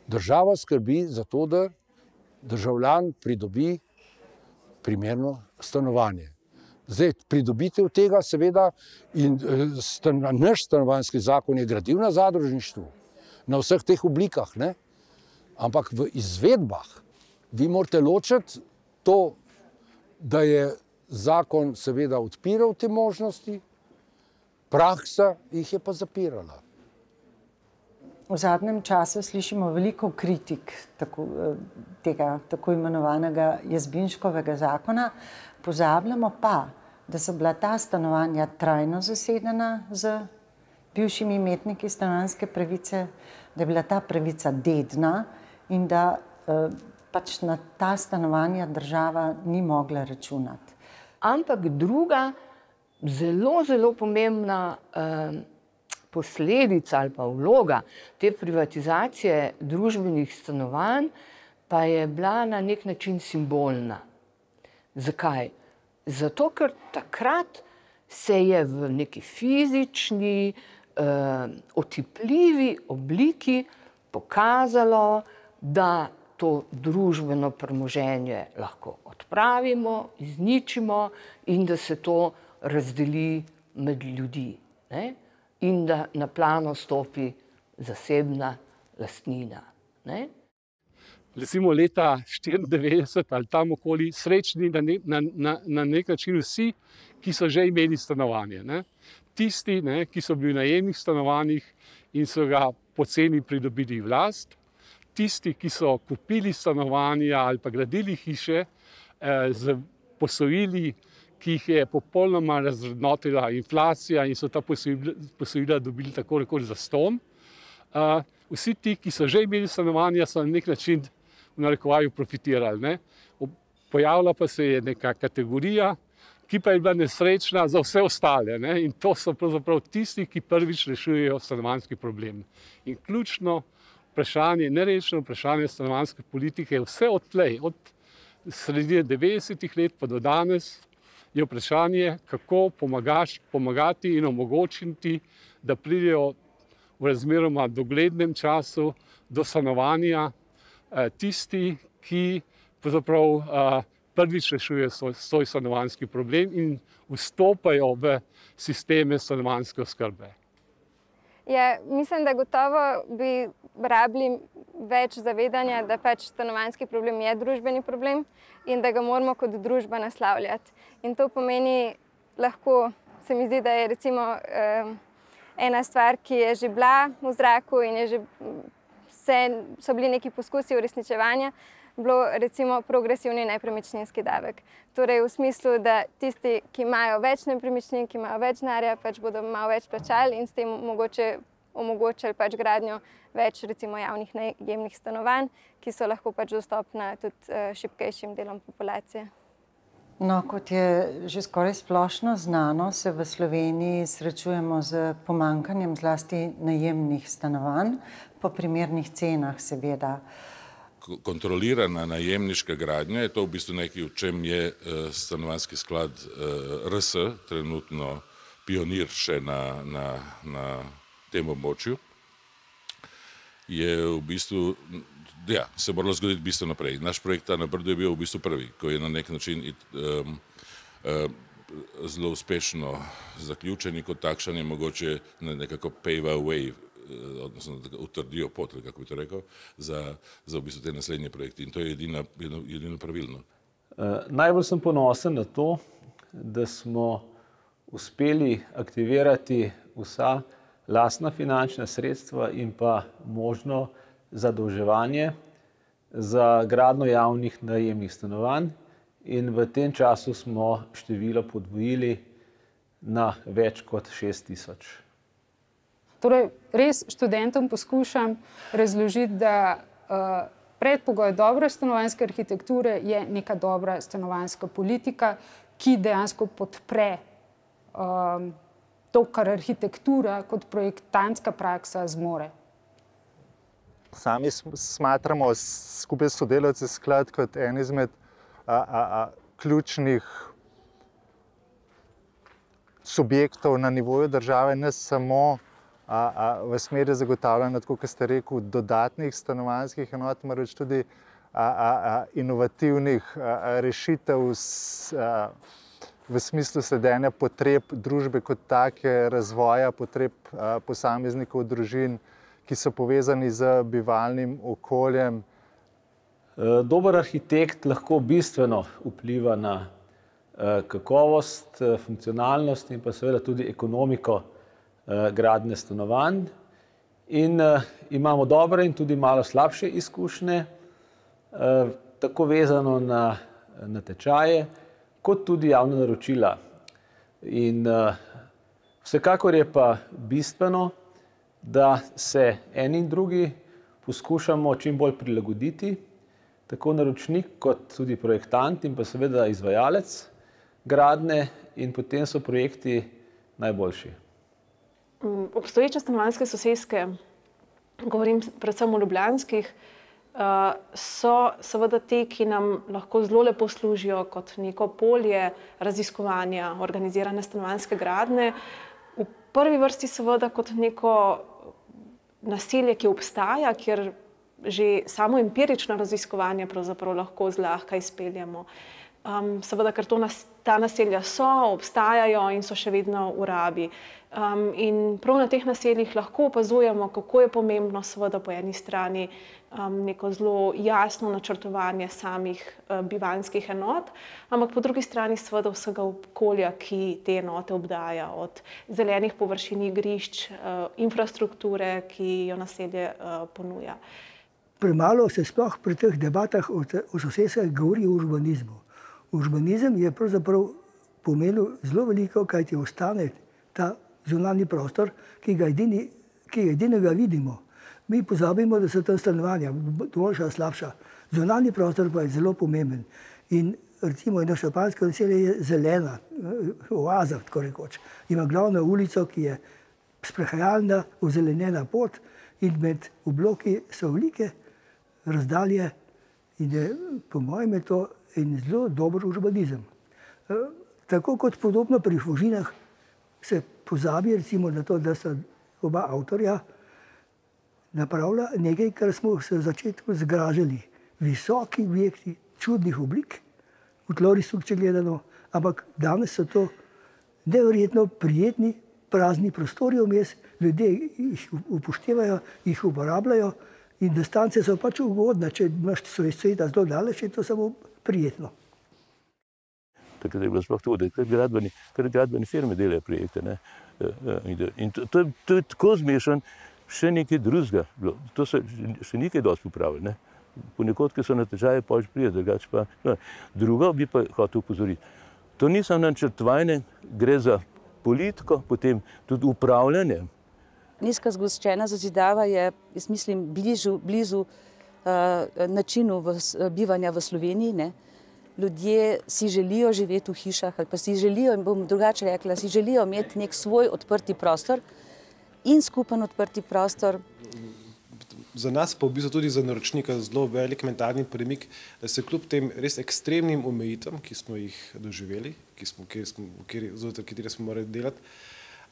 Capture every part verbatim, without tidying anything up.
Država skrbi za to, da državljan pridobi primerno stanovanje. Zdaj, pridobitev tega seveda in stan, naš stanovanjski zakon je gradil na zadružništvu, na vseh teh oblikah, ne? Ampak v izvedbah vi morate ločiti to, da je zakon seveda odpiral te možnosti, praksa jih je pa zapirala. V zadnjem času slišimo veliko kritik tako, tega tako imenovanega Jazbinškovega zakona, pozabljamo pa, da so bila ta stanovanja trajno zasedena z bivšimi imetniki stanovanjske pravice, da je bila ta pravica dedna in da eh, pač na ta stanovanja država ni mogla računati. Ampak druga, zelo, zelo pomembna eh, posledica ali pa vloga te privatizacije družbenih stanovanj pa je bila na nek način simbolna. Zakaj? Zato, ker takrat se je v neki fizični, eh, otipljivi obliki pokazalo, da to družbeno premoženje lahko odpravimo, izničimo in da se to razdeli med ljudi, ne? In da na plano stopi zasebna lastnina, ne? Recimo leta štiriindevetdeset ali tam okoli srečni na, ne, na, na, na nek način vsi, ki so že imeli stanovanje. Ne? Tisti, ne, ki so bili v najemnih stanovanjih in so ga poceni pridobili v last, tisti, ki so kupili stanovanja ali pa gradili hiše eh, z posojili, ki jih je popolnoma razvrednotila inflacija in so ta posojila, posojila dobili tako rekoč zastonj. Uh, vsi ti, ki so že imeli stanovanja, so na nek način v narekovaju profitirali. Ne? Pojavila pa se je neka kategorija, ki pa je bila nesrečna za vse ostale. Ne? In to so pravzaprav tisti, ki prvič rešujejo stanovanjski problem. In ključno vprašanje, nerešeno vprašanje stanovanjske politike je vse odtlej, od sredine devetdesetih let pa do danes, je vprašanje, kako pomagaš, pomagati in omogočiti, da pridejo v razmeroma doglednem času do stanovanja eh, tisti, ki pravzaprav eh, prvič rešujejo svoj, svoj stanovanjski problem in vstopajo v sisteme stanovanjske oskrbe. Ja, mislim, da gotovo bi rabili več zavedanja, da pač stanovanjski problem je družbeni problem in da ga moramo kot družba naslavljati. In to pomeni lahko, se mi zdi, da je recimo eh, ena stvar, ki je že bila v zraku in je že vse, so bili neki poskusi uresničevanja, bilo recimo progresivni nepremičninski davek. Torej v smislu, da tisti, ki imajo več nepremičnin, ki imajo več denarja, pač bodo malo več plačali in s tem mogoče omogočili pač gradnjo več recimo javnih najemnih stanovanj, ki so lahko pač dostopna tudi uh, šibkejšim delom populacije. No, kot je že skoraj splošno znano, se v Sloveniji srečujemo z pomanjkanjem zlasti najemnih stanovanj, po primernih cenah seveda. Kontrolirana najemniška gradnja je to v bistvu nekaj, v čem je stanovanjski sklad R S trenutno pionir še na, na, na tem območju. Je v bistvu, ja, se moralo zgoditi bistveno naprej. Naš projekt na Brdu je bil v bistvu prvi, ko je na nek način um, um, zelo uspešno zaključen in kot takšen je mogoče nekako pave way, odnosno da utrdijo pot, kako bi to rekel, za, za v bistvu te naslednje projekte. In to je edina, edino, edino pravilno. Uh, najbolj sem ponosen na to, da smo uspeli aktivirati vsa lastna finančna sredstva in pa možno zadolževanje za gradnjo javnih najemnih stanovanj in v tem času smo število podvojili na več kot šest tisoč. Torej, res študentom poskušam razložiti, da uh, predpogoj dobre stanovanjske arhitekture je neka dobra stanovanjska politika, ki dejansko podpre um, to, kar arhitektura kot projektantska praksa zmore. Sami smatramo skupaj s sodelavci sklad kot en izmed a, a, a, ključnih subjektov na nivoju države, ne samo a, a, v smeri zagotavljanja, tako kot ste rekel, dodatnih stanovanjskih enot, marveč tudi a, a, a, inovativnih a, rešitev s, a, v smislu sledenja potreb družbe kot take, razvoja potreb a, posameznikov, družin, ki so povezani z bivalnim okoljem. Dober arhitekt lahko bistveno vpliva na kakovost, funkcionalnost in pa seveda tudi ekonomiko gradnje stanovanj. In imamo dobre in tudi malo slabše izkušnje, tako vezano na natečaje, kot tudi javna naročila. In vsekakor je pa bistveno, da se eni in drugi poskušamo čim bolj prilagoditi, tako naročnik kot tudi projektant in pa seveda izvajalec gradnje, in potem so projekti najboljši. Obstoječe stanovanjske soseske, govorim predvsem o ljubljanskih, so seveda te, ki nam lahko zelo lepo služijo kot neko polje raziskovanja organizirane stanovanjske gradnje. V prvi vrsti seveda kot neko naselje, ki obstaja, kjer že samo empirično raziskovanje pravzaprav lahko zlahka izpeljemo. Um, seveda, ker to nas, ta naselja so, obstajajo in so še vedno v rabi. Um, in prav na teh naseljih lahko opazujemo, kako je pomembno seveda po eni strani um, neko zelo jasno načrtovanje samih uh, bivanjskih enot, ampak po drugi strani seveda vsega okolja, ki te enote obdaja, od zelenih površin, igrišč, uh, infrastrukture, ki jo naselje uh, ponuja. Premalo se sploh pri teh debatah o, o soseskah govori o urbanizmu. Urbanizem je pravzaprav pomenil zelo veliko, kaj ti ostane ta zunanji prostor, ki ga edini, ki edinega vidimo. Mi pozabimo, da so tam stanovanja, boljša, slabša. Zunanji prostor pa je zelo pomemben. In recimo eno šampanjsko naselje je zelena, oaza, tako rekoč. Ima glavno ulico, ki je sprehajalna, ozelenjena pot, in med obloki so velike razdalje, in je, po mojem je to en zelo dober urbanizem. Tako kot podobno pri Fužinah se pozabi recimo na to, da sta oba avtorja napravila nekaj, kar smo se v začetku zgražali. Visoki objekti, čudnih oblik, v tlorisu, če gledano, ampak danes so to neverjetno prijetni, prazni prostori vmes, ljudje jih upoštevajo, jih uporabljajo in distance so pač ugodne. Če imaš sveta zelo daleč, je to samo prijetno. Takrat je bilo sploh to, da gradbeni, gradbeni firme delajo projekte. Ne? In to, to, to je tako zmešan, še nekaj drugega. To so še nekaj dosti popravili. Ponekod, ki so na natečaje, pa že prije, drugače pa. No. Drugo bi pa hotel upozoriti. To ni samo načrtovanje, gre za politiko, potem tudi upravljanje. Nizka zgoščena zazidava je, jaz mislim, bližu, blizu uh, načinu v, bivanja v Sloveniji. Ne? Ljudje si želijo živeti v hišah, ali pa si želijo, in bom drugače rekla, si želijo imeti nek svoj odprti prostor in skupen odprti prostor. Za nas pa v bistvu tudi za naročnika zelo velik mentalni premik, da se kljub tem res ekstremnim omejitvam, ki smo jih doživeli, ki smo, kjer smo, kjer, znotraj katere smo morali delati,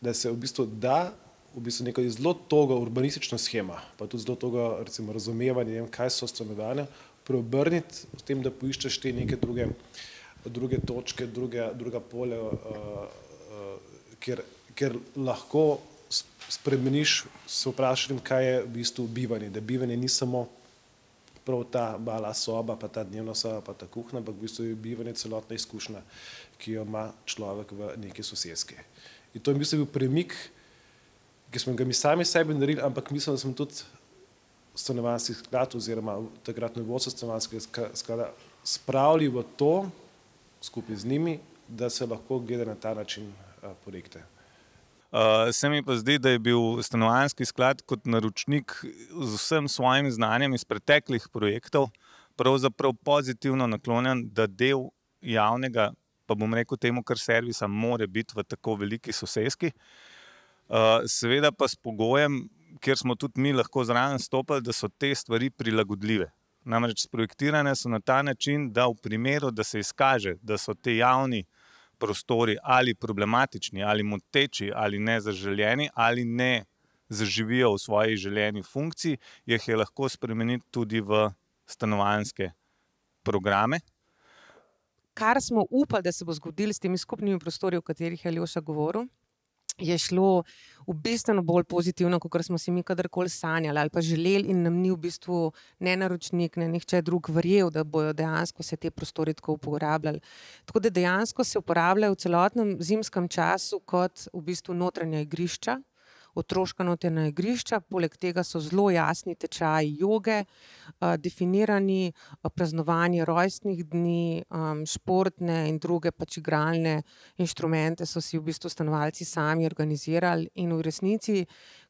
da se v bistvu da v bistvu neka zelo toga urbanistična schema, pa tudi zelo toga recimo razumevanje, ne vem, kaj so stanovanja, preobrniti s tem, da poiščeš te neke druge, druge točke, druge, druga polja, uh, uh, kjer, kjer lahko spremeniš, se vprašam, kaj je v bistvu bivanje. Da bivanje ni samo prav ta mala soba, pa ta dnevna soba, pa ta kuhna, ampak v bistvu je bivanje celotna izkušnja, ki jo ima človek v neki soseski. In to je v bistvu bil premik, ki smo ga mi sami sebi naredili, ampak mislim, da smo tudi stanovanjski sklad oziroma takratno vodstvo stanovanjskega sklada spravili v to, skupaj z njimi, da se lahko gleda na ta način projekte. Uh, se mi pa zdi, da je bil stanovanjski sklad kot naročnik z vsem svojim znanjem iz preteklih projektov pravzaprav pozitivno naklonjen, da del javnega, pa bom rekel temu kar servisa, more biti v tako veliki soseski. Uh, seveda pa s pogojem, kjer smo tudi mi lahko zraven stopili, da so te stvari prilagodljive. Namreč sprojektirane so na ta način, da v primeru, da se izkaže, da so te javni prostori ali problematični, ali moteči, ali nezaželjeni, ali ne zaživijo v svoji želeni funkciji, jih je lahko spremeniti tudi v stanovanjske programe. Kar smo upali, da se bo zgodilo s temi skupnimi prostori, o katerih je Aljoša govoril, je šlo v bistveno bolj pozitivno, kot smo si mi kadarkoli sanjali ali pa želeli, in nam ni v bistvu ne naročnik, ne nihče drug verjel, da bojo dejansko se te prostori tako uporabljali. Tako da dejansko se uporabljajo v celotnem zimskem času kot v bistvu notranja igrišča, otroška notranja igrišča, poleg tega so zelo jasni tečaji joge, definirani, praznovanje rojstnih dni, športne in druge pač igralne inštrumente so si v bistvu stanovalci sami organizirali, in v resnici,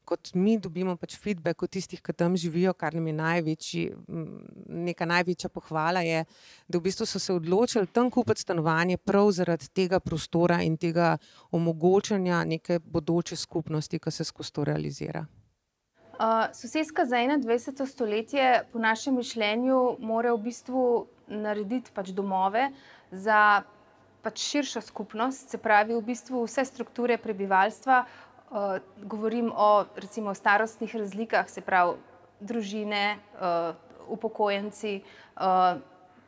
kot mi dobimo pač feedback od tistih, ki tam živijo, kar nam je največji, neka največja pohvala je, da v bistvu so se odločili tam kupiti stanovanje prav zaradi tega prostora in tega omogočanja neke bodoče skupnosti, ki se skozi to realizira. Uh, soseska za enaindvajseto stoletje po našem mišljenju mora v bistvu narediti pač domove za pač širšo skupnost, se pravi v bistvu vse strukture prebivalstva. Uh, govorim o recimo starostnih razlikah, se pravi družine, uh, upokojenci, uh,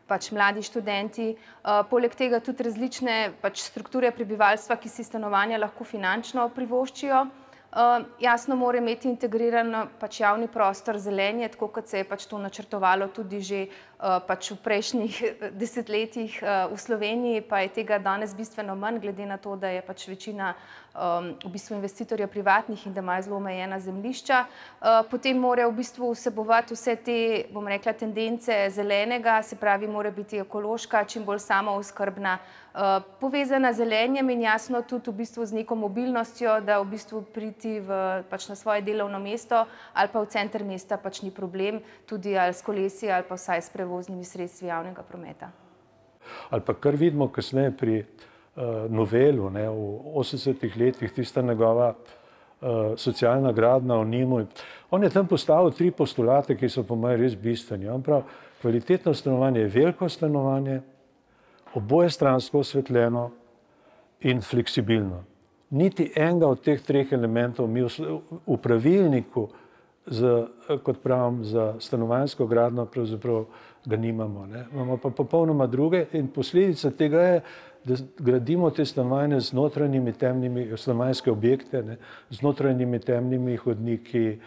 pač mladi študenti, uh, poleg tega tudi različne pač strukture prebivalstva, ki si stanovanja lahko finančno privoščijo. Uh, jasno mora imeti integriran pač javni prostor, zelenje, tako kot se je pač to načrtovalo tudi že uh, pač v prejšnjih desetletjih uh, v Sloveniji, pa je tega danes bistveno manj, glede na to, da je pač večina um, v bistvu investitorjev privatnih in da imajo zelo omejena zemljišča. Uh, potem mora v bistvu vsebovati vse te, bom rekla, tendence zelenega, se pravi, mora biti ekološka, čim bolj samooskrbna, uh, povezana z zelenjem in jasno tudi v bistvu z neko mobilnostjo, da v bistvu priti v, pač na svoje delovno mesto ali pa v center mesta pač ni problem, tudi ali s kolesi ali pa vsaj s prevoznimi sredstvi javnega prometa. Ali pa kar vidimo kasneje pri uh, novelu, ne, v osemdesetih letih, tista njegova uh, socialna gradnja o Nimu. On je tam postavil tri postulate, ki so po mojem res bistveni. On pravi, kvalitetno stanovanje je veliko stanovanje, oboje stransko osvetljeno in fleksibilno. Niti enega od teh treh elementov mi v pravilniku, z, kot pravim, za stanovanjsko gradnjo pravzaprav ga nimamo. Ne. Imamo pa popolnoma druge in posledica tega je, da gradimo te stanovanje z notranjimi temnimi, stanovanjske objekte, ne, z notranjimi temnimi hodniki,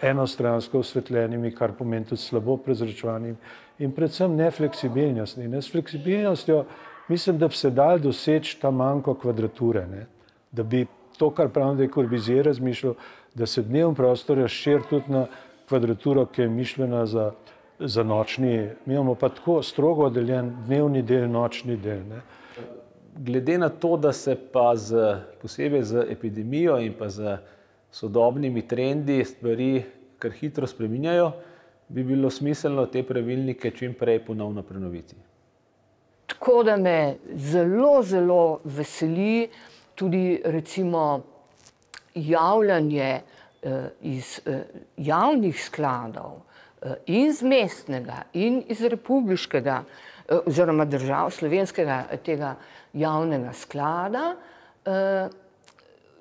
enostransko osvetljenimi, kar pomeni tudi slabo prezračevanimi in predvsem nefleksibilnostni. Ne. S fleksibilnostjo mislim, da bi se dal doseči ta manjko kvadrature, ne. Da bi to, kar pravim, da je Corbusier razmišljal, da se dnevni prostor razširi tudi na kvadraturo, ki je mišljena za, za nočni. Mi imamo pa tako strogo oddeljen dnevni del, nočni del. Ne. Glede na to, da se pa z, posebej z epidemijo in pa z sodobnimi trendi stvari kar hitro spreminjajo, bi bilo smiselno te pravilnike čim prej ponovno prenoviti. Tako da me zelo, zelo veseli tudi recimo javljanje eh, iz eh, javnih skladov eh, in z mestnega in iz republiškega eh, oziroma držav slovenskega tega javnega sklada, eh,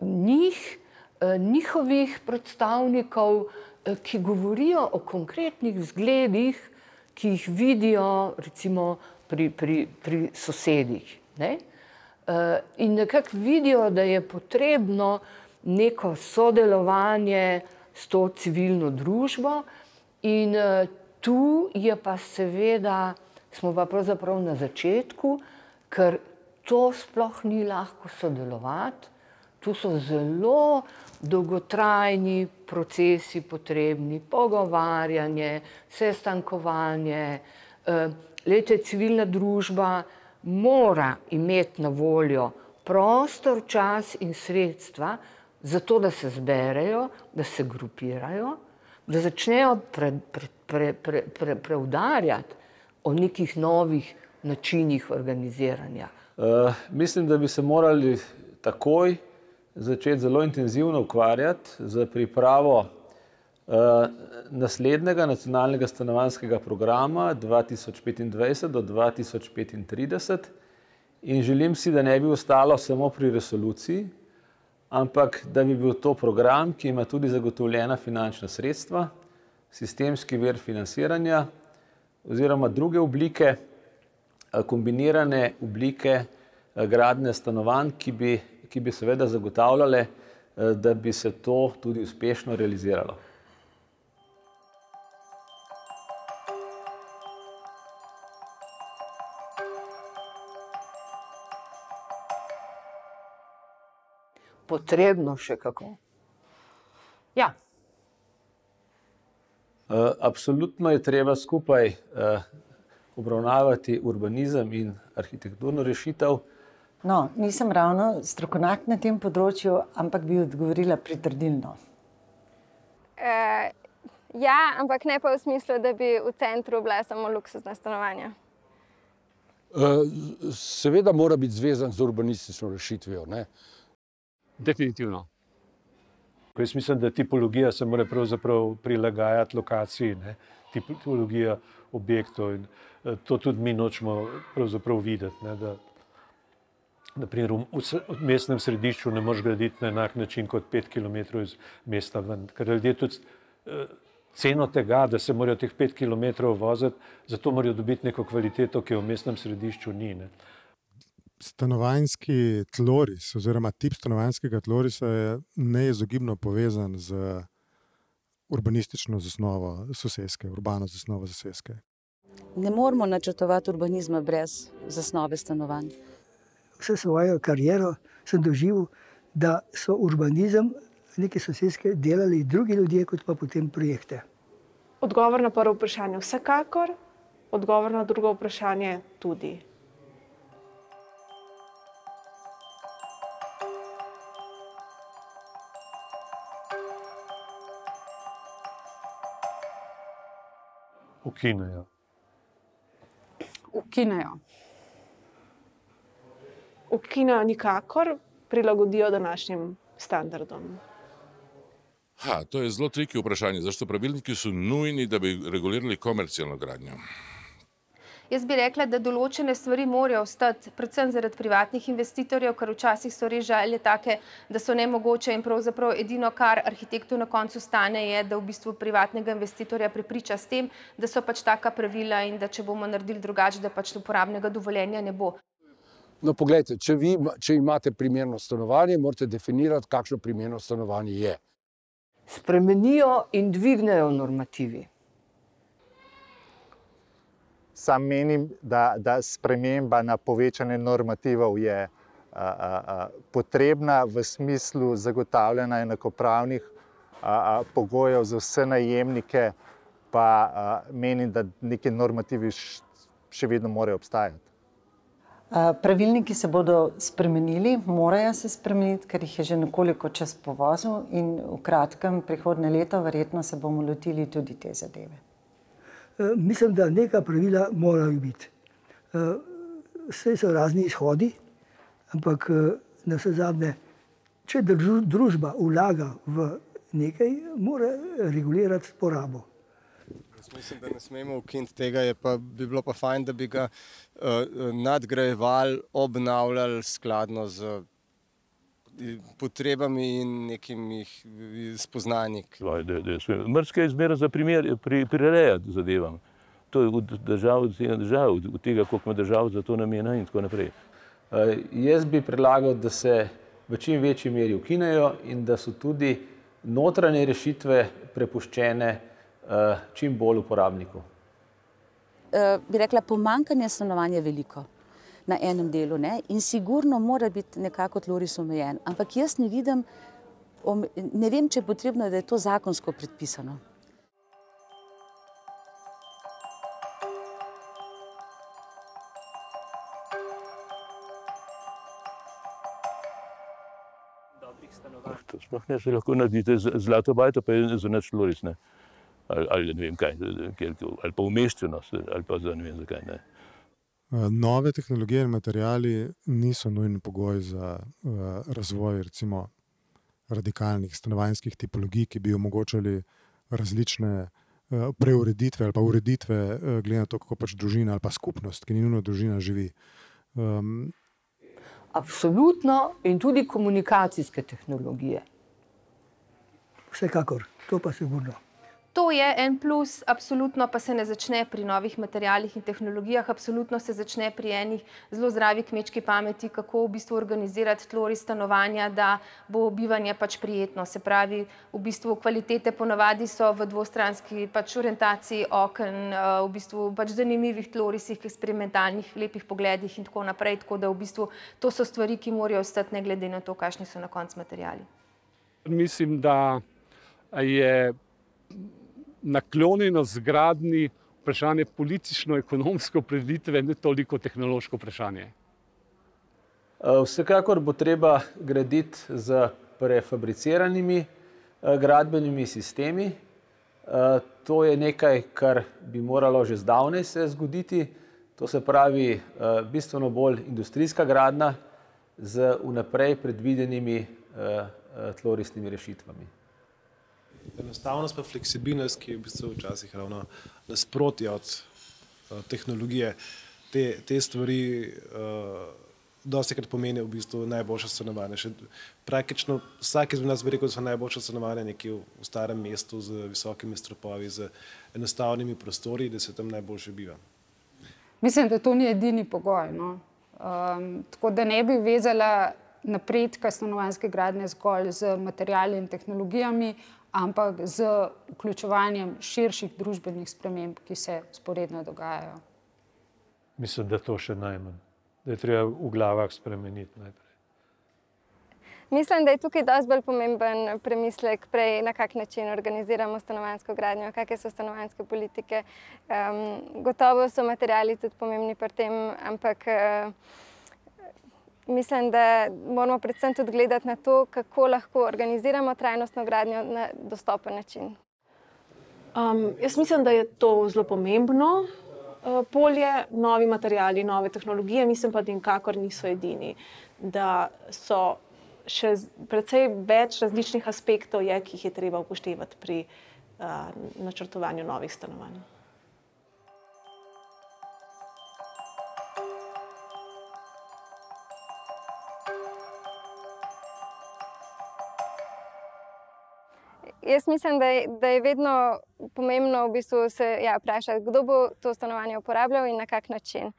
njih, eh, njihovih predstavnikov, eh, ki govorijo o konkretnih zgledih, ki jih vidijo recimo pri, pri, pri sosedih. Ne? In nekako vidijo, da je potrebno neko sodelovanje s to civilno družbo in tu je pa seveda, smo pa pravzaprav na začetku, ker to sploh ni lahko sodelovati. Tu so zelo dolgotrajni procesi potrebni, pogovarjanje, sestankovanje. Glejte, civilna družba mora imeti na voljo prostor, čas in sredstva za to, da se zberejo, da se grupirajo, da začnejo pre, pre, pre, pre, pre, preudarjati o nekih novih načinih organiziranja. Uh, mislim, da bi se morali takoj začeti zelo intenzivno ukvarjati z pripravo uh, naslednjega nacionalnega stanovanjskega programa dva tisoč petindvajset do dva tisoč petintrideset in želim si, da ne bi ostalo samo pri resoluciji, ampak da bi bil to program, ki ima tudi zagotovljena finančna sredstva, sistemski vir financiranja oziroma druge oblike, kombinirane oblike gradnje stanovanj, ki bi, ki bi seveda zagotavljale, da bi se to tudi uspešno realiziralo. Potrebno še kako. Ja. Absolutno je treba skupaj obravnavati urbanizem in arhitekturno rešitev. No, nisem ravno strokovnjak na tem področju, ampak bi odgovorila pritrdilno. Uh, ja, ampak ne pa v smislu, da bi v centru bila samo luksuzna stanovanja. Uh, seveda mora biti zvezan z urbanistično rešitvijo, ne? Definitivno. Jaz mislim, da tipologija se mora pravzaprav prilagajati lokaciji, ne? Tipologija objektov in to tudi mi nočemo pravzaprav videti, ne? Da naprimer v mestnem središču ne moreš graditi na enak način kot pet kilometrov iz mesta ven, ker ljudje tudi ceno tega, da se morajo teh pet kilometrov voziti, zato morajo dobiti neko kvaliteto, ki jo v mestnem središču ni, ne? Stanovanjski tloris oziroma tip stanovanjskega tlorisa je neizogibno povezan z urbanistično zasnovo soseske, urbano zasnovo soseske. Ne moramo načrtovati urbanizma brez zasnove stanovanj. Vse svojo kariero sem doživel, da so urbanizem neke soseske delali drugi ljudje, kot pa potem projekte. Odgovor na prvo vprašanje vsekakor, odgovor na drugo vprašanje tudi. Ukinejo. Ukinejo. Ukinejo nikakor, prilagodijo današnjim standardom. Ha, to je zelo triki vprašanje. Zašto pravilniki so nujni, da bi regulirali komercialno gradnjo? Jaz bi rekla, da določene stvari morajo ostati, predvsem zaradi privatnih investitorjev, ker včasih so res želje take, da so nemogoče in pravzaprav edino, kar arhitektu na koncu stane, je, da v bistvu privatnega investitorja prepriča s tem, da so pač taka pravila in da če bomo naredili drugače, da pač uporabnega dovoljenja ne bo. No, poglejte, če vi, če imate primerno stanovanje, morate definirati, kakšno primerno stanovanje je. Spremenijo in dvignejo normativi. Sam menim, da, da sprememba na povečanje normativov je a, a, a, potrebna v smislu zagotavljanja enakopravnih a, a, pogojev za vse najemnike, pa a, menim, da neki normativi še vedno morajo obstajati. Pravilniki se bodo spremenili, morajo se spremeniti, ker jih je že nekoliko čas povozil in v kratkem prihodnje leto verjetno se bomo lotili tudi te zadeve. Mislim, da neka pravila morajo biti. Vse so razni izhodi, ampak na vse zadnje, če družba vlaga v nekaj, mora regulirati porabo. Jaz mislim, da ne smemo ukiniti tega, je pa, bi bilo pa fajn, da bi ga uh, nadgrajevali, obnavljali skladno z potrebami in nekimi spoznanji. Mrzke je zmeraj za primer prirejati zadevam. To je od držav, od tega, koliko ima držav za to namena in tako naprej. Jaz bi predlagal, da se v čim večji meri ukinejo in da so tudi notranje rešitve prepuščene čim bolj uporabniku. Bi rekla, pomanjkanje stanovanja je veliko na enem delu, ne? In sigurno mora biti nekako tloris omejen. Ampak jaz ne vidim, ne vem, če je potrebno, da je to zakonsko predpisano. To sploh ne se lahko naredite zlato bajto, pa je za nič tloris, ne? Ali, ali ne vem kaj, ali pa umeščenost, ali pa za ne vem zakaj, ne? Nove tehnologije in materiali niso nujni pogoj za uh, razvoj recimo radikalnih stanovanjskih tipologij, ki bi omogočali različne uh, preureditve ali pa ureditve uh, glede na to, kako pač družina ali pa skupnost, ki ni nujno družina, živi. Um, Absolutno, in tudi komunikacijske tehnologije. Vsekakor, to pa sigurno. To je en plus, absolutno pa se ne začne pri novih materialih in tehnologijah, absolutno se začne pri enih zelo zdravi kmečki pameti, kako v bistvu organizirati tloris stanovanja, da bo bivanje pač prijetno. Se pravi, v bistvu kvalitete ponavadi so v dvostranski pač orientaciji oken, v bistvu pač zanimivih tlorisih, eksperimentalnih, lepih pogledih in tako naprej, tako da v bistvu to so stvari, ki morajo ostati ne glede na to, kakšni so na koncu materiali. Mislim, da je naklonjeno zgradni vprašanje politično-ekonomsko opredelitve, ne toliko tehnološko vprašanje. Vsekakor bo treba graditi z prefabriciranimi gradbenimi sistemi. To je nekaj, kar bi moralo že zdavnaj se zgoditi. To se pravi bistveno bolj industrijska gradnja z vnaprej predvidenimi tlorisnimi rešitvami. Enostavnost pa fleksibilnost, ki je v bistvu včasih ravno nasprotje od uh, tehnologije, te, te stvari uh, dostikrat pomeni v bistvu najboljše stanovanje. Še praktično vsak izmed nas bi rekel, da so najboljše stanovanje nekje v, v starem mestu z visokimi stropovi, z enostavnimi prostori, da se tam najboljše biva. Mislim, da to ni edini pogoj. No? Um, tako da ne bi vezala napredka stanovanjske gradnje zgolj z materiali in tehnologijami, ampak z vključevanjem širših družbenih sprememb, ki se vzporedno dogajajo. Mislim, da to še najmanj. Da je treba v glavah spremeniti najprej. Mislim, da je tukaj dosti bolj pomemben premislek prej, na kak način organiziramo stanovanjsko gradnjo, kakšne so stanovanjske politike. Um, gotovo so materiali tudi pomembni pri tem, ampak uh, mislim, da moramo predvsem tudi gledati na to, kako lahko organiziramo trajnostno gradnjo na dostopen način. Um, jaz mislim, da je to zelo pomembno uh, polje, novi materiali, nove tehnologije, mislim pa, da nikakor niso edini. Da so še precej več različnih aspektov, je, ki jih je treba upoštevati pri uh, načrtovanju novih stanovanj. Jaz mislim, da je, da je vedno pomembno v bistvu se ja, vprašati, kdo bo to stanovanje uporabljal in na kak način.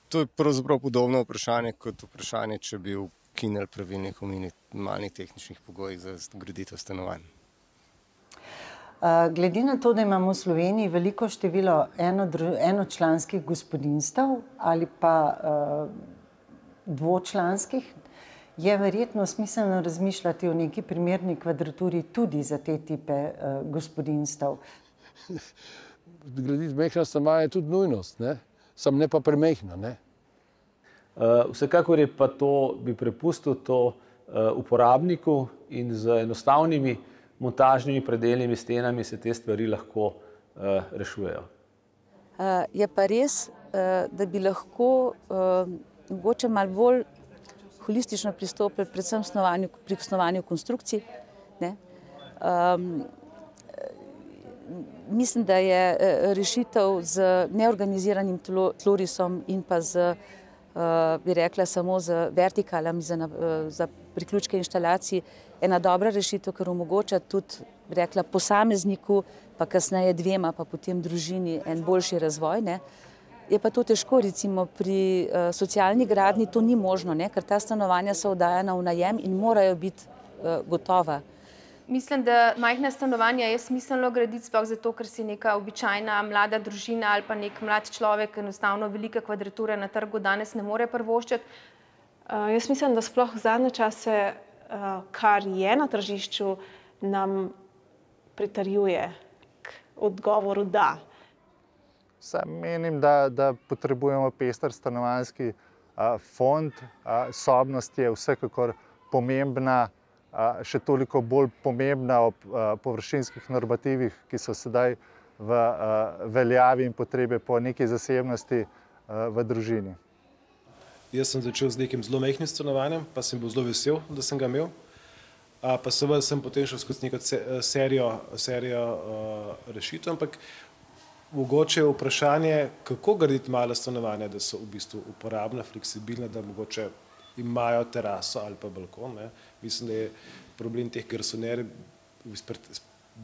To je pravzaprav podobno vprašanje kot vprašanje, če bi ukinili pravilnik o minimalnih tehničnih pogojih za graditev stanovanj. Glede na to, da imamo v Sloveniji veliko število eno, enočlanskih gospodinjstev ali pa uh, dvočlanskih, je verjetno smiselno razmišljati o neki primerni kvadraturi tudi za te tipe uh, gospodinjstev. Graditi mehna stanovanja je tudi nujnost, ne? Sam ne pa premehna, ne? Uh, vsekakor je pa to, bi prepustil to uh, uporabniku in z enostavnimi montažnimi predeljnimi stenami se te stvari lahko uh, rešujejo. Uh, je pa res, uh, da bi lahko uh, mogoče malo bolj holistično pristopili predvsem snovanju, pri snovanju konstrukcij. Ne? Um, mislim, da je rešitev z neorganiziranim tlorisom in pa z, uh, bi rekla, samo z vertikalami za, uh, za priključke inštalacij ena dobra rešitev, ker omogoča tudi, bi rekla, posamezniku, pa kasneje dvema, pa potem družini en boljši razvoj. Ne? Je pa to težko, recimo pri uh, socialni gradnji to ni možno, ne? Ker ta stanovanja so oddajana v najem in morajo biti uh, gotova. Mislim, da majhna stanovanja je smiselno graditi sploh zato, ker si neka običajna mlada družina ali pa nek mlad človek enostavno velike kvadrature na trgu danes ne more privoščiti. Uh, jaz mislim, da sploh zadnje čase, uh, kar je na tržišču, nam pritrjuje k odgovoru da. Sam menim, da, da potrebujemo pester stanovanjski a, fond. A, sobnost je vsekakor pomembna, a, še toliko bolj pomembna ob a, površinskih normativih, ki so sedaj v a, veljavi in potrebe po neki zasebnosti a, v družini. Jaz sem začel z nekim zelo majhnim stanovanjem, pa sem bil zelo vesel, da sem ga imel. A, pa seveda sem potem šel skozi neko serijo, serijo a, rešitev, ampak mogoče je vprašanje, kako graditi mala stanovanja, da so v bistvu uporabna, fleksibilna, da mogoče imajo teraso ali pa balkon. Ne. Mislim, da je problem teh garsonerjev iz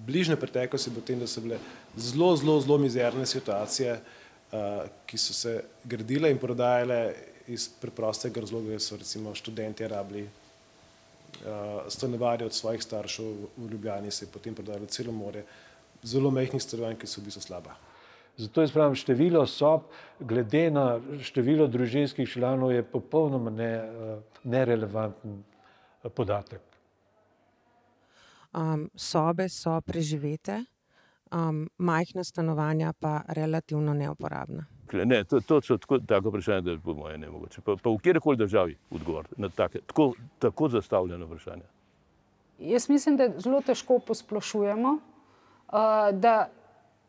bližnje preteklosti bo tem, da so bile zelo, zelo, zelo mizerne situacije, uh, ki so se gradile in prodajale iz preprostega razloga, da so recimo študenti rabili uh, stanovanje od svojih staršev v Ljubljani, se je potem prodajalo celo more zelo majhnih stanovanj, ki so v bistvu slaba. Zato jaz pravim, število sob, glede na število družinskih članov, je popolnoma ne, nerelevanten podatek. Um, sobe so preživete, um, majhna stanovanja pa relativno neuporabna. Ne, to, to so tako, tako vprašanje, da je po moje nemogoče. Pa, pa v kjerkoli državi odgovor na take, tako, tako zastavljeno vprašanje. Jaz mislim, da zelo težko posplošujemo, uh, da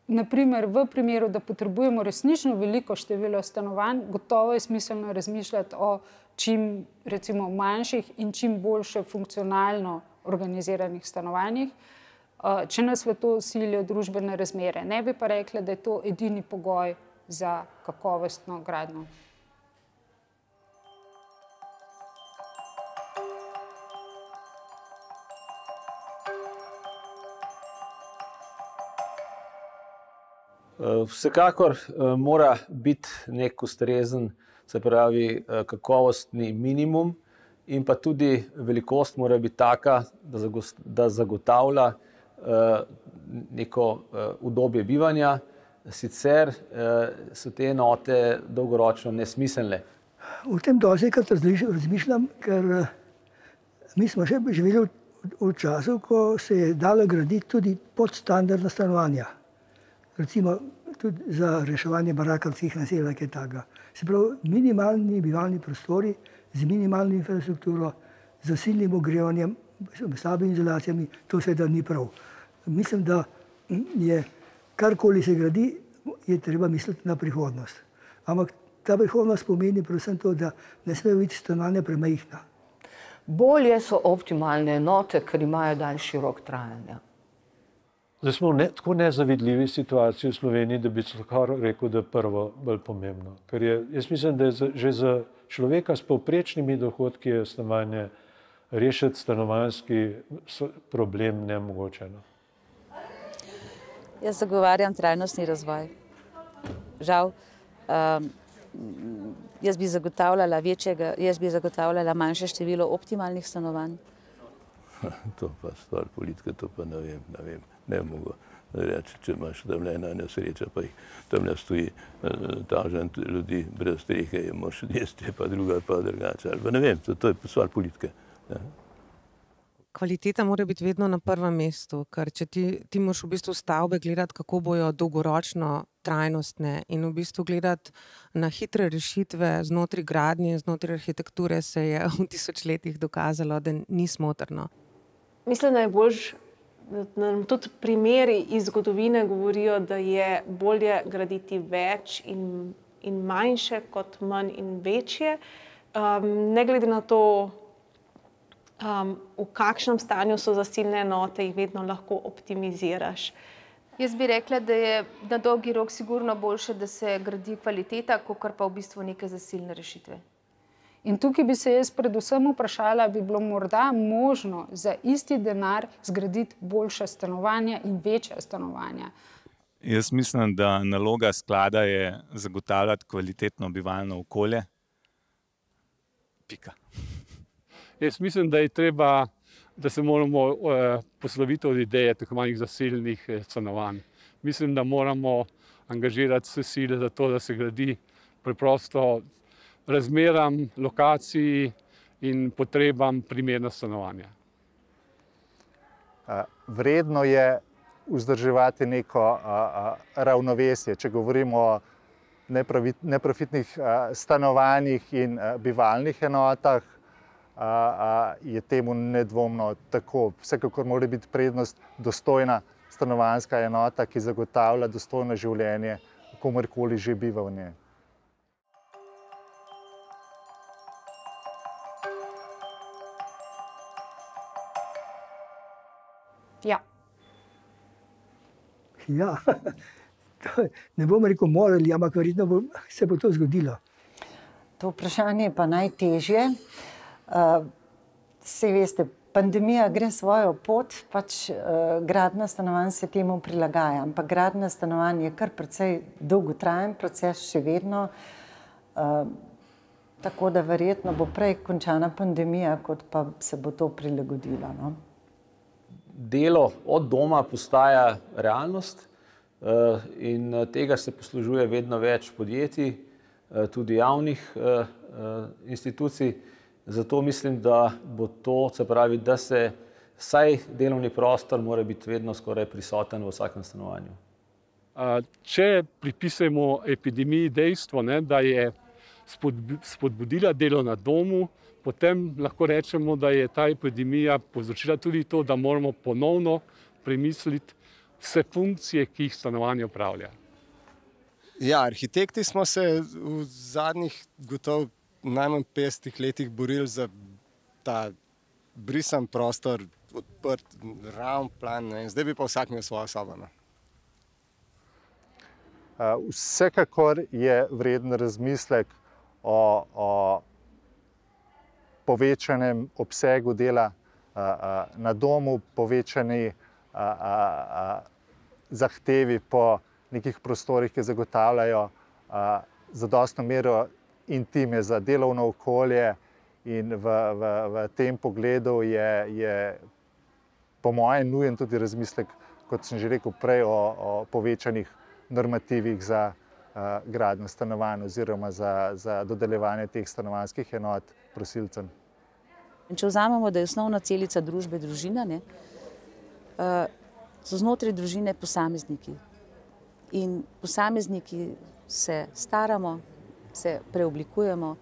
naprimer v primeru, da potrebujemo resnično veliko število stanovanj, gotovo je smiselno razmišljati o čim recimo manjših in čim boljše funkcionalno organiziranih stanovanjih, če nas v to silijo družbene razmere. Ne bi pa rekla, da je to edini pogoj za kakovostno gradnjo. Vsekakor mora biti nek ustrezen, se pravi kakovostni minimum, in pa tudi velikost mora biti taka, da zagotavlja neko udobje bivanja, sicer so te enote dolgoročno nesmiselne. O tem dostikrat razmišljam, ker mi smo še živeli v času, ko se je dalo graditi tudi podstandardna stanovanja. Recimo tudi za reševanje barakarskih naselij, kaj takega. Se pravi, minimalni bivalni prostori z minimalno infrastrukturo, z zasilnim ogrevanjem, slabimi izolacijami, to seveda ni prav. Mislim, da je karkoli se gradi, je treba misliti na prihodnost. Ampak ta prihodnost pomeni predvsem to, da ne smejo biti stanovanja premajhna. Bolje so optimalne enote, ker imajo daljši rok trajanja. Zdaj smo v ne, tako nezavidljivi situaciji v Sloveniji, da bi kar rekel, da je prvo bolj pomembno. Ker je, jaz mislim, da je za, že za človeka s povprečnimi dohodki je stanovanje rešiti stanovanjski problem nemogočeno. Jaz zagovarjam trajnostni razvoj. Žal, um, jaz bi zagotavljala večjega, jaz bi zagotavljala manjše število optimalnih stanovanj. To pa stvar politike, to pa ne vem, ne vem, ne mogo reči, če imaš tam ena nesreča, pa jih tam ne stoji tažen ljudi brez strehe, je moš jesti, pa druga pa drugače, ali pa ne vem, to, to je stvar politike. Ja. Kvaliteta mora biti vedno na prvem mestu, ker če ti, ti moraš v bistvu stavbe gledati, kako bojo dolgoročno trajnostne in v bistvu gledati na hitre rešitve znotraj gradnje, znotraj arhitekture se je v tisočletjih dokazalo, da ni smotrno. Mislim, da je boljš, da nam tudi primeri iz zgodovine govorijo, da je bolje graditi več in, in manjše kot manj in večje. Um, ne glede na to, um, v kakšnem stanju so zasilne enote, jih vedno lahko optimiziraš. Jaz bi rekla, da je na dolgi rok sigurno boljše, da se gradi kvaliteta, kakor pa v bistvu neke zasilne rešitve. In tukaj bi se jaz predvsem vprašala, bi bilo morda možno za isti denar zgraditi boljša stanovanja in večja stanovanja. Jaz mislim, da naloga sklada je zagotavljati kvalitetno bivalno okolje. Pika. Jaz mislim, da je treba, da se moramo eh, posloviti od ideje tako manjih zasilnih eh, stanovanj. Mislim, da moramo angažirati vse sile za to, da se gradi preprosto razmeram, lokaciji in potrebam primerna stanovanja. Vredno je vzdrževati neko a, a, ravnovesje. Če govorimo o neprofitnih a, stanovanjih in a, bivalnih enotah, a, a, je temu nedvomno tako. Vsekakor mora biti prednost dostojna stanovanjska enota, ki zagotavlja dostojno življenje, komorkoli že biva v njej. Ja. Ja, ne bom rekel morali, ampak verjetno bo, se bo to zgodilo. To vprašanje je pa najtežje. Saj veste, pandemija gre svojo pot, pač gradnja stanovanj se temu prilagaja, ampak gradnja stanovanj je kar precej dolgotrajen proces še vedno, tako da verjetno bo prej končana pandemija, kot pa se bo to prilagodilo, no. Delo od doma postaja realnost in tega se poslužuje vedno več podjetij, tudi javnih institucij. Zato mislim, da bo to, se pravi, da se vsaj delovni prostor mora biti vedno skoraj prisoten v vsakem stanovanju. Če pripisujemo epidemiji dejstvo, ne, da je spodbudila delo na domu, potem lahko rečemo, da je ta epidemija povzročila tudi to, da moramo ponovno premisliti vse funkcije, ki jih stanovanje opravlja. Ja, arhitekti smo se v zadnjih gotovo najmanj petdesetih letih borili za ta brisan prostor, odprt, ravn plan, ne? Zdaj bi pa vsak imel svojo sobo. Ne? Vsekakor je vreden razmislek o, o povečanem obsegu dela na domu, povečani zahtevi po nekih prostorih, ki zagotavljajo zadostno mero intime za delovno okolje, in v, v, v tem pogledu je, je po mojem nujen tudi razmislek, kot sem že rekel prej, o, o povečanih normativih za uh, gradnjo stanovanj oziroma za, za dodeljevanje teh stanovanjskih enot prosilcem. Če vzamemo, da je osnovna celica družbe družina, ne, uh, so znotraj družine posamezniki. In posamezniki se staramo, se preoblikujemo,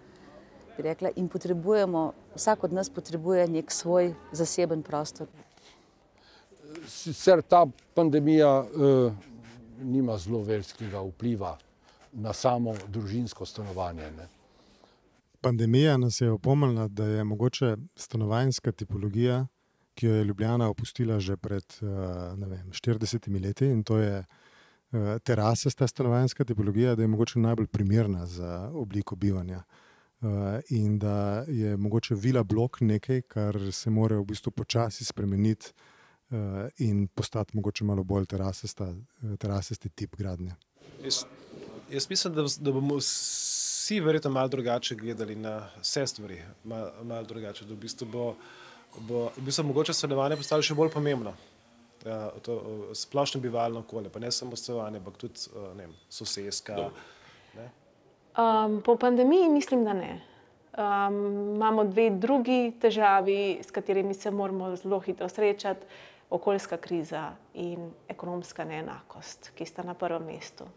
bi rekla, in potrebujemo, vsak od nas potrebuje nek svoj zaseben prostor. Sicer ta pandemija eh, nima zelo velikega vpliva na samo družinsko stanovanje. Ne? Pandemija nas je opomnila, da je mogoče stanovanjska tipologija, ki jo je Ljubljana opustila že pred ne vem, štiridesetimi leti, in to je terasasta stanovanjska tipologija, da je mogoče najbolj primerna za obliko bivanja. In da je mogoče vila blok nekaj, kar se mora v bistvu počasi spremeniti in postati mogoče malo bolj terasasta, terasasti tip gradnje. Jaz, jaz mislim, da, da bomo vsi verjetno malo drugače gledali na vse stvari, malo, malo drugače, da v bistvu bo, bo v bistvu mogoče stanovanje postalo še bolj pomembno. Ja, to splošno bivalno okolje, pa ne samo stanovanje, ampak tudi ne vem, soseska. Ne? Um, po pandemiji mislim, da ne. Um, imamo dve drugi težavi, s katerimi se moramo zelo hitro srečati, okoljska kriza in ekonomska neenakost, ki sta na prvem mestu.